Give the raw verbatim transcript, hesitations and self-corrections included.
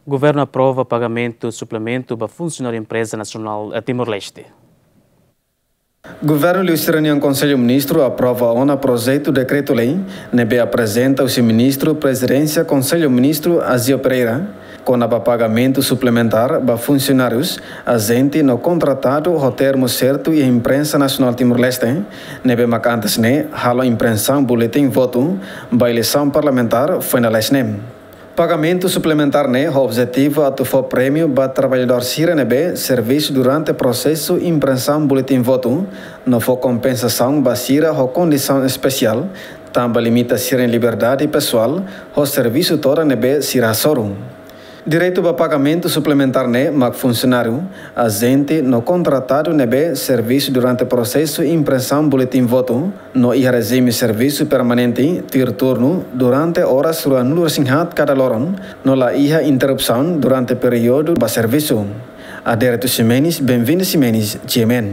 Governu aprova pagamentu suplementu ba funsionáriu Empreza Nasionál Timor-Leste. Governu liu sira-nian Konsellu Ministru aprova ona projetu dekretu-lei ne'ebé aprezenta husi Ministru Prezidénsia Konsellu Ministru Azio Pereira, kona-ba pagamentu suplementár ba funsionárius, ajente no kontratadu ho termu sertu iha Imprensa Nasionál Timor-Leste, ne'ebé mak antes ne'e halo imprensaun buletin votu ba eleisaun parlamentár foin dala haat ne'e. Pagamentu suplementár ne'e ho objetivu atu fó prémiu ba traballadór sira ne'ebé servisu durante prosesu imprensaun buletin votu, no fó kompensasaun ba sira ho kondisaun espesiál, tanba limita sira-nia liberdade pesoál ho servisu todan ne'ebé sira hasoru. Direitu ba pagamentu suplementár ne'e mak funsionáriu, ajente no kontratadu ne'ebé servisu durante prosesu imprensaun buletin votu, no iha rejime servisu permanente, tuir turnu, durante oras ruanulu-resin-haat kada loron, no la iha interrupsaun durante períodu ba servisu. Adérito Ximenes, Benvinda Ximenes, G M N.